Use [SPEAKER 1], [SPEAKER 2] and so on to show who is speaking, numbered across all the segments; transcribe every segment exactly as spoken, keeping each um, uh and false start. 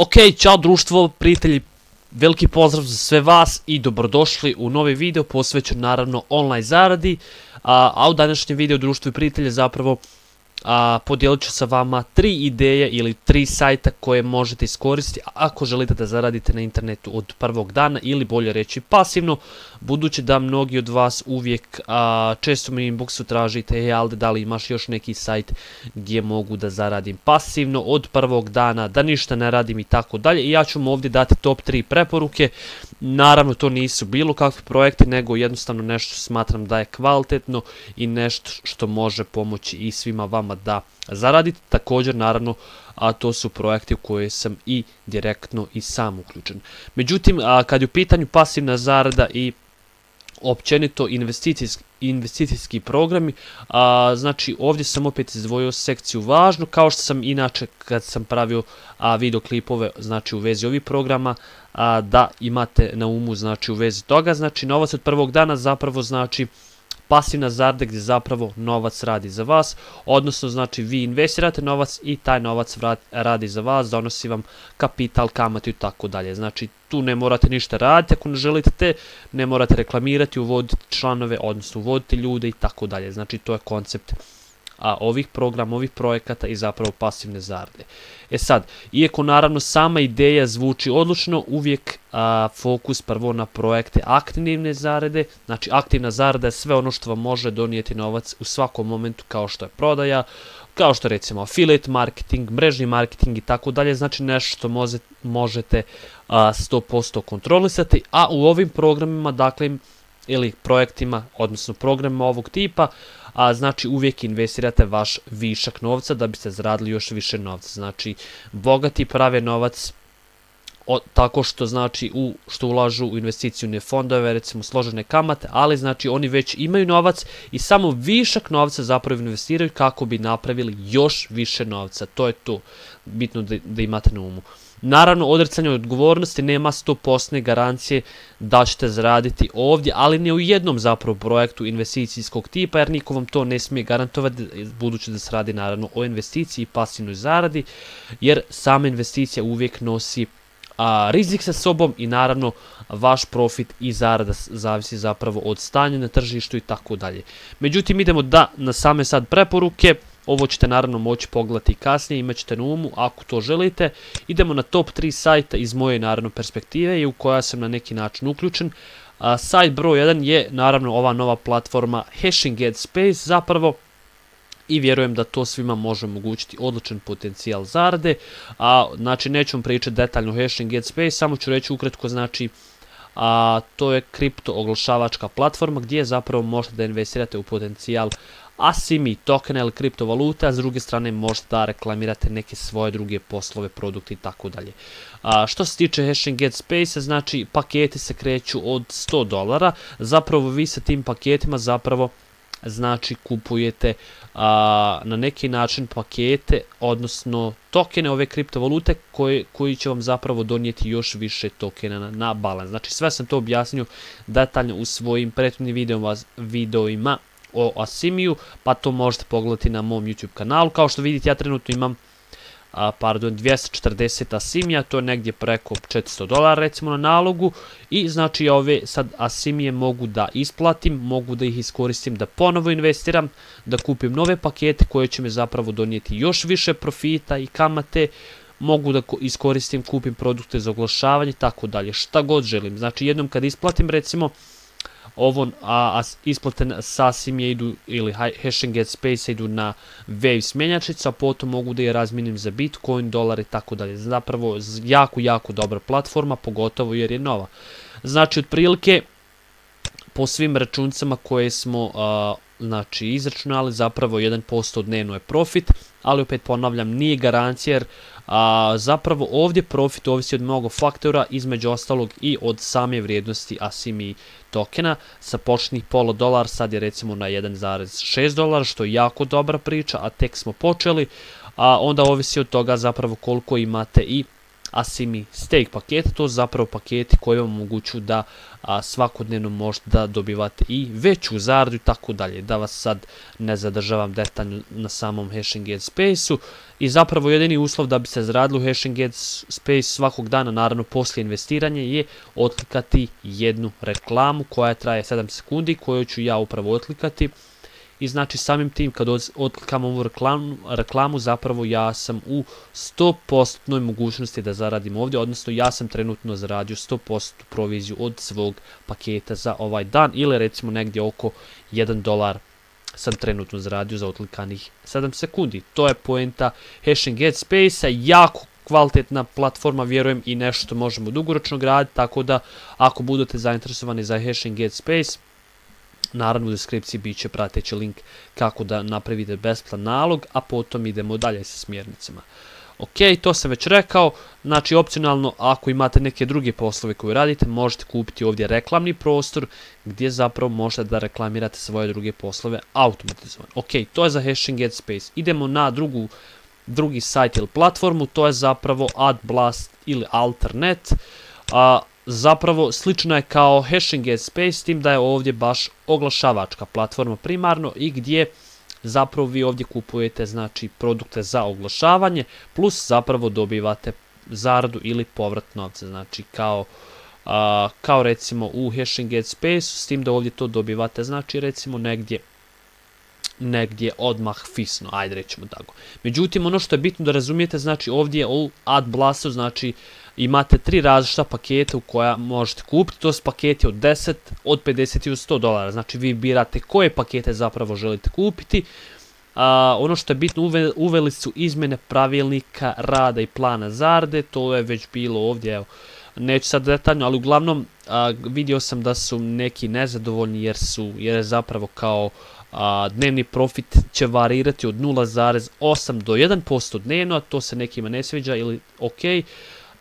[SPEAKER 1] Ok, ćao društvo, prijatelji, veliki pozdrav za sve vas i dobrodošli u novi video posvećen naravno online zaradi, a, a u današnjem videu društvo i prijatelje zapravo a, podijelit ću sa vama tri ideje ili tri sajta koje možete iskoristiti ako želite da zaradite na internetu od prvog dana ili bolje reći pasivno, budući da mnogi od vas uvijek a, često mi inboxu tražite e, Alde, da li imaš još neki sajt gdje mogu da zaradim pasivno od prvog dana, da ništa ne radim i tako dalje. I ja ću vam ovdje dati top tri preporuke. Naravno to nisu bilo kakvi projekti, nego jednostavno nešto smatram da je kvalitetno i nešto što može pomoći i svima vama da zaradite. Također naravno a to su projekti u koje sam i direktno i sam uključen. Međutim, a, kad je u pitanju pasivna zarada i općenito investicijski, investicijski programi, a, znači ovdje sam opet izdvojio sekciju važno, kao što sam inače kad sam pravio a, videoklipove znači u vezi ovih programa, a, da imate na umu znači u vezi toga. Znači novac od prvog dana zapravo znači pasivna zarada gdje zapravo novac radi za vas, odnosno znači vi investirate novac i taj novac radi za vas, donosi vam kapital, kamatu i tako dalje. Znači tu ne morate ništa raditi, ako ne želite te, ne morate reklamirati, uvoditi članove, odnosno uvoditi ljude i tako dalje. Znači to je koncept a, ovih programa, ovih projekata i zapravo pasivne zarade. E sad, iako naravno sama ideja zvuči odlučno, uvijek a, fokus prvo na projekte aktivne zarade. Znači aktivna zarada je sve ono što vam može donijeti novac u svakom momentu, kao što je prodaja, kao što je recimo affiliate marketing, mrežni marketing i tako dalje. Znači nešto što može, možete a, sto posto kontrolisati, a u ovim programima, dakle, ili projektima, odnosno programima ovog tipa, a znači uvijek investirate vaš višak novca da biste zaradili još više novca. Znači bogati prave novac o, tako što znači u što ulažu u investicijune fondove, recimo složene kamate, ali znači oni već imaju novac i samo višak novca zapravo investiraju kako bi napravili još više novca. To je to bitno da, da imate na umu. Naravno, odricanje od odgovornosti nema sto posto garancije da ćete zaraditi ovdje, ali ne u jednom zapravo projektu investicijskog tipa, jer niko vam to ne smije garantovati, budući da se radi naravno o investiciji i pasivnoj zaradi, jer sama investicija uvijek nosi a, rizik sa sobom i naravno vaš profit i zarada zavisi zapravo od stanja na tržištu i tako dalje. Međutim, idemo da na same sad preporuke. Ovo ćete naravno moći pogledati kasnije, imat ćete na umu ako to želite. Idemo na top tri sajta iz moje naravno perspektive i u koja sam na neki način uključen. A, sajt broj jedan je naravno ova nova platforma HashingGetSpace zapravo i vjerujem da to svima može omogućiti odličan potencijal zarade. A, znači neću vam pričati detaljno o HashingGetSpace, samo ću reći ukratko, znači a, to je kripto oglašavačka platforma gdje zapravo možete da investirate u potencijal Asimi tokena ili kriptovalute, a s druge strane možete da reklamirate neke svoje druge poslove, produkte i tako dalje. Što se tiče HashingGetSpace, znači paketi se kreću od sto dolara, zapravo vi sa tim paketima zapravo znači kupujete a, na neki način pakete, odnosno tokene ove kriptovalute koje, koji će vam zapravo donijeti još više tokena na, na balans. Znači sve sam to objasnio detaljno u svojim prethodnim videoma, videoima o Asimiju, pa to možete pogledati na mom YouTube kanalu. Kao što vidite, ja trenutno imam a, pardon, dvjesto četrdeset Asimija, to je negdje preko četiristo dolara recimo na nalogu, i znači ove sad Asimije mogu da isplatim, mogu da ih iskoristim da ponovo investiram, da kupim nove pakete koje će me zapravo donijeti još više profita i kamate, mogu da iskoristim, kupim produkte za oglašavanje i tako dalje, šta god želim. Znači jednom kad isplatim recimo ovo, a, a isplate sa Asimije idu ili HashingGetSpace idu na Waves mjenjačnicu, a potom mogu da je razmijenim za Bitcoin, dolar i tako dalje. Zapravo jako, jako dobra platforma, pogotovo jer je nova. Znači otprilike po svim računicama koje smo a, znači izračunali, zapravo jedan posto dnevno je profit, ali opet ponavljam, nije garancija jer a, zapravo ovdje profit ovisi od mnogo faktora, između ostalog i od same vrijednosti Asimi tokena. Sa početnih pola dolar sad je recimo na jedan zarez šest dolara, što je jako dobra priča, a tek smo počeli. A onda ovisi od toga zapravo koliko imate i Asimi Stake pakete, to su zapravo paketi koji vam omogućuju da a, svakodnevno možete da dobivate i veću zaradu i tako dalje. Da vas sad ne zadržavam detaljno na samom HashingGate Space-u. I zapravo jedini uslov da bi se zaradilo u HashingGate Space svakog dana, naravno poslije investiranja, je otlikati jednu reklamu koja traje sedam sekundi, koju ću ja upravo otlikati. I znači samim tim kad otklikam ovu reklamu, reklamu zapravo ja sam u sto posto mogućnosti da zaradim ovdje, odnosno ja sam trenutno zaradio sto posto proviziju od svog paketa za ovaj dan, ili recimo negdje oko jedan dolar sam trenutno zaradio za otlikanih sedam sekundi. To je poenta HashingGate Space-a, jako kvalitetna platforma, vjerujem i nešto možemo dugoročno graditi, tako da ako budete zainteresovani za HashingGate Space, naravno u deskripciji bit će prateći link kako da napravite besplatan nalog, a potom idemo dalje sa smjernicama. Ok, to sam već rekao, znači opcionalno ako imate neke druge poslove koje radite, možete kupiti ovdje reklamni prostor gdje zapravo možete da reklamirate svoje druge poslove automatizovano. Ok, to je za HashingGate Space. Idemo na drugu, drugi sajt ili platformu, to je zapravo AdBlast ili Alternet. A, zapravo slično je kao HashingGate Space, s tim da je ovdje baš oglašavačka platforma primarno i gdje zapravo vi ovdje kupujete znači produkte za oglašavanje, plus zapravo dobivate zaradu ili povrat novca, znači kao, a, kao recimo u HashingGate Space, s tim da ovdje to dobivate znači recimo negdje negdje odmah fisno, ajde rećemo tako. Međutim, ono što je bitno da razumijete, znači ovdje u AdBlastu, znači imate tri različita paketa u koja možete kupiti, to su paketi od deset, od pedeset i od sto dolara, znači vi birate koje pakete zapravo želite kupiti. A, ono što je bitno, uve, uveli su izmjene pravilnika rada i plana zarade, to je već bilo ovdje, evo, neću sad detaljno, ali uglavnom a, vidio sam da su neki nezadovoljni jer su, jer je zapravo kao a, dnevni profit će varirati od nula zarez osam do jedan posto dnevno, a to se nekima ne sviđa ili ok,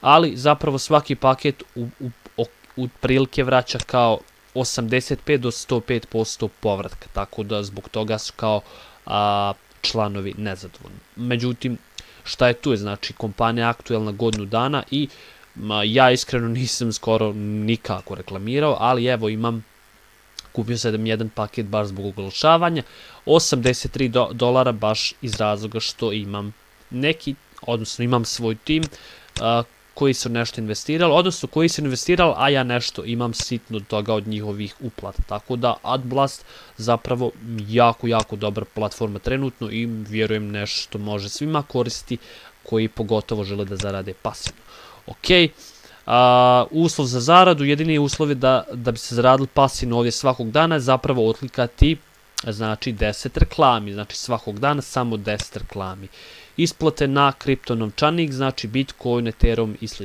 [SPEAKER 1] ali zapravo svaki paket u, u, u, u prilike vraća kao osamdeset pet do sto pet posto povratka, tako da zbog toga su kao a, članovi nezadovoljni. Međutim, šta je tu je, znači kompanija je aktuelna godinu dana i ma, ja iskreno nisam skoro nikako reklamirao, ali evo imam, kupio sam jedan paket baš zbog oglašavanja, osamdeset tri dolara baš iz razloga što imam neki, odnosno imam svoj tim a, koji su nešto investirali, odnosno koji su investirali, a ja nešto imam sitno toga od njihovih uplata. Tako da AdBlast zapravo jako, jako dobra platforma trenutno i vjerujem nešto može svima koristiti koji pogotovo žele da zarade pasivno. Ok, a, uslov za zaradu, jedini uslov je da, da bi se zaradili pasivno ovdje svakog dana, zapravo otlikati znači deset reklami, znači svakog dana samo deset reklami. Isplate na kripto novčanik, znači Bitcoin, Ethereum i sl.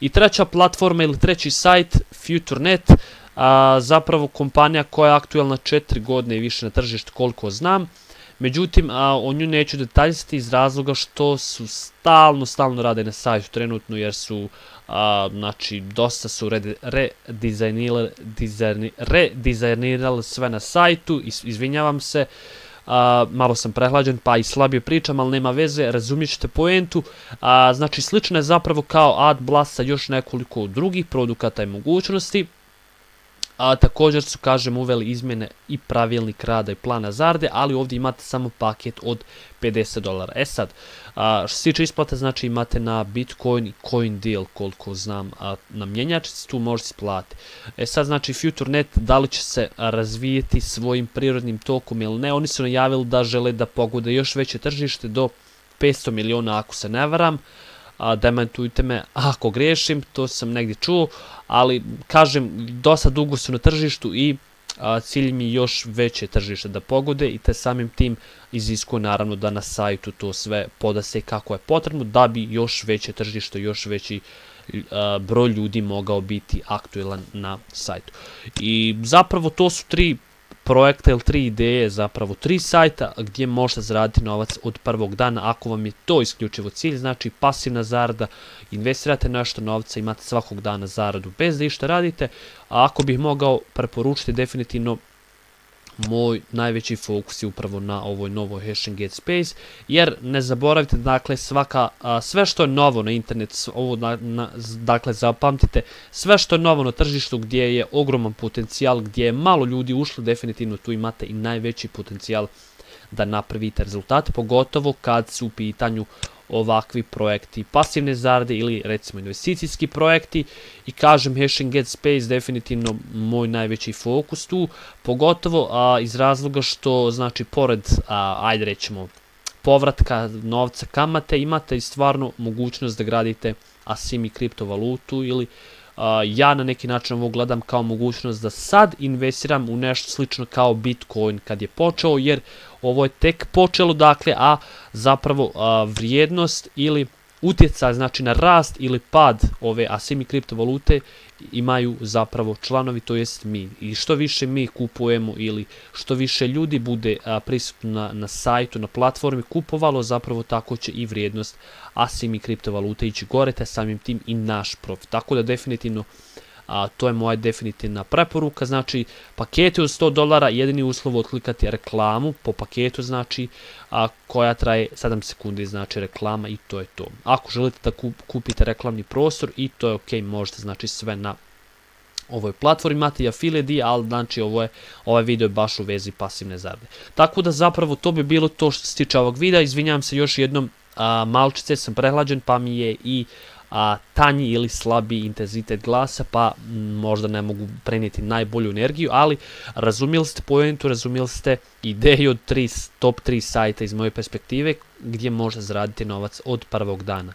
[SPEAKER 1] I treća platforma ili treći sajt, FutureNet, a, zapravo kompanija koja je aktuelna četiri godine i više na tržištu koliko znam. Međutim, a, o nju neću detaljiti iz razloga što su stalno, stalno rade na sajtu trenutno jer su, a, znači, dosta su redizajnirali re sve na sajtu, izvinjavam se. Uh, malo sam prehlađen pa i slabije pričam, ali nema veze, razumjet ćete poentu. Uh, znači slično je zapravo kao AdBlast sa još nekoliko drugih produkata i mogućnosti. A također su, kažem, uveli izmjene i pravilnik rada i plana zarade, ali ovdje imate samo paket od pedeset dolara. E sad, a, što se tiče isplate, znači imate na Bitcoin i CoinDeal, koliko znam, a, na mjenjačici, tu možete isplatiti. E sad, znači, FutureNet, da li će se razvijeti svojim prirodnim tokom ili ne, oni su najavili da žele da pogode još veće tržište do petsto miliona, ako se ne varam. A, dementujte me ako grešim, to sam negdje čuo, ali kažem, dosta dugo su na tržištu i a, cilj mi je još veće tržište da pogode i te samim tim iziskuje naravno da na sajtu to sve podase kako je potrebno da bi još veće tržište, još veći a, broj ljudi mogao biti aktuelan na sajtu. I zapravo to su tri projekta ili tri ideje, zapravo tri sajta gdje možete zaraditi novac od prvog dana ako vam je to isključivo cilj, znači pasivna zarada, investirate nešto novca, imate svakog dana zaradu bez da išta radite, a ako bih mogao preporučiti definitivno moj najveći fokus je upravo na ovoj novoj HashingGate Space, jer ne zaboravite, dakle, svaka, a, sve što je novo na internetu, ovo, na, na, dakle, zapamtite, sve što je novo na tržištu gdje je ogroman potencijal, gdje je malo ljudi ušlo, definitivno tu imate i najveći potencijal da napravite rezultate, pogotovo kad su u pitanju ovakvi projekti pasivne zarade ili recimo investicijski projekti. I kažem, HashingGate Space definitivno moj najveći fokus tu, pogotovo a, iz razloga što, znači, pored, a, ajde rećemo, povratka novca, kamate, imate i stvarno mogućnost da gradite asimi kriptovalutu ili Uh, ja na neki način ovo gledam kao mogućnost da sad investiram u nešto slično kao Bitcoin kad je počeo, jer ovo je tek počelo, dakle, a zapravo uh, vrijednost ili utjecaj, znači na rast ili pad ove asimi kriptovalute imaju zapravo članovi, to jest mi. I što više mi kupujemo ili što više ljudi bude a, prisutno na, na sajtu, na platformi kupovalo, zapravo tako će i vrijednost asimi kriptovalute ići gore, te samim tim i naš profit. Tako da definitivno a, to je moja definitivna preporuka. Znači, paketi od sto dolara, jedini uslov odklikati reklamu po paketu, znači, a, koja traje sedam sekundi, znači reklama, i to je to. Ako želite da kup, kupite reklamni prostor, i to je ok, možete, znači, sve na ovoj platformi, imate i affiliate, ali znači ovo je, ovaj video je baš u vezi pasivne zarade. Tako da zapravo to bi bilo to što se tiče ovog videa. Izvinjavam se još jednom, a, malčice sam prehlađen, pa mi je i a, tanji ili slabi intenzitet glasa, pa m, možda ne mogu prenijeti najbolju energiju, ali razumjeli ste pojentu, razumjeli ste ideju od tri, top tri sajta iz moje perspektive gdje možete zaraditi novac od prvog dana.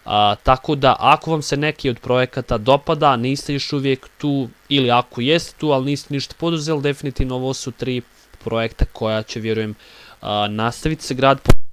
[SPEAKER 1] A, tako da ako vam se neki od projekata dopada, niste još uvijek tu, ili ako jeste tu, ali niste ništa poduzeli, definitivno ovo su tri projekta koja će, vjerujem, a, nastaviti se graditi.